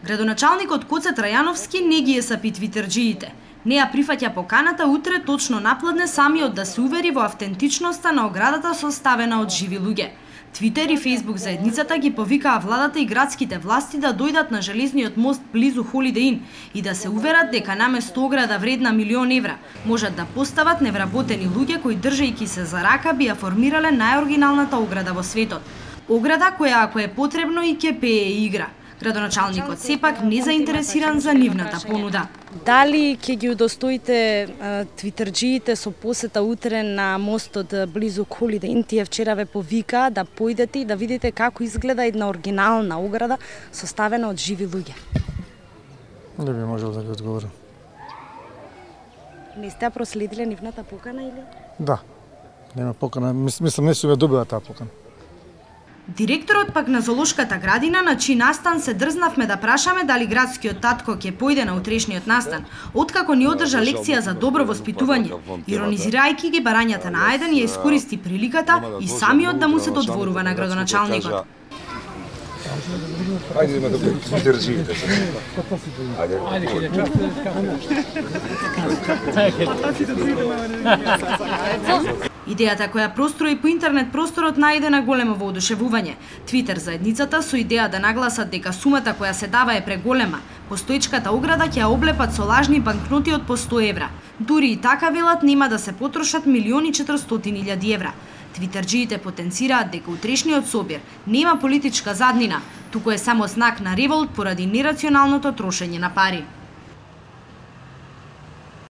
Градоначалникот Коце Трајановски не ги есапи твитерџиите. Не ја прифаќа поканата утре точно напладне самиот да се увери во автентичноста на оградата составена од живи луѓе. Твитер и Фејсбук заедницата ги повикаа владата и градските власти да дојдат на железниот мост близу Холидеј Ин и да се уверат дека наместо ограда вредна €1.000.000 можат да постават невработени луѓе кои држејќи се за рака би ја формирале најоригиналната ограда во светот. Ограда која ако е потребно и ќе пее и игра. Градоначалникот сепак не заинтересиран за нивната понуда. Дали ќе ги удостоите твитерџиите со посета утре на мостот близу Холидеј Ин? Тие вчера ве повика да појдете и да видите како изгледа една оригинална ограда составена од живи луѓе. Не би можел да ги одговорам. Не сте проследиле нивната покана или? Да. Нема покана, мислам не се добила таа покана. Директорот пак на зоолошката градина, на чиј настан се дрзнавме да прашаме дали градскиот татко ќе појде на утрешниот настан, откако ни одржа лекција за добро воспитување, иронизирајќи ги барањата на Ајден, ја искористи приликата и самиот да му се додворува на градоначалникот. Ајде да го држите. Идејата која прострои по интернет просторот најде на големо воодушевување. Твитер заедницата со идеја да нагласат дека сумата која се дава е преголема, постоечката ограда ќе ја облепат со лажни банкноти од по €100. Дури и така велат нема да се потрошат €1.400.000. Твитерџиите потенцираат дека утрешниот собир нема политичка заднина, туку е само знак на револт поради нерационалното трошење на пари.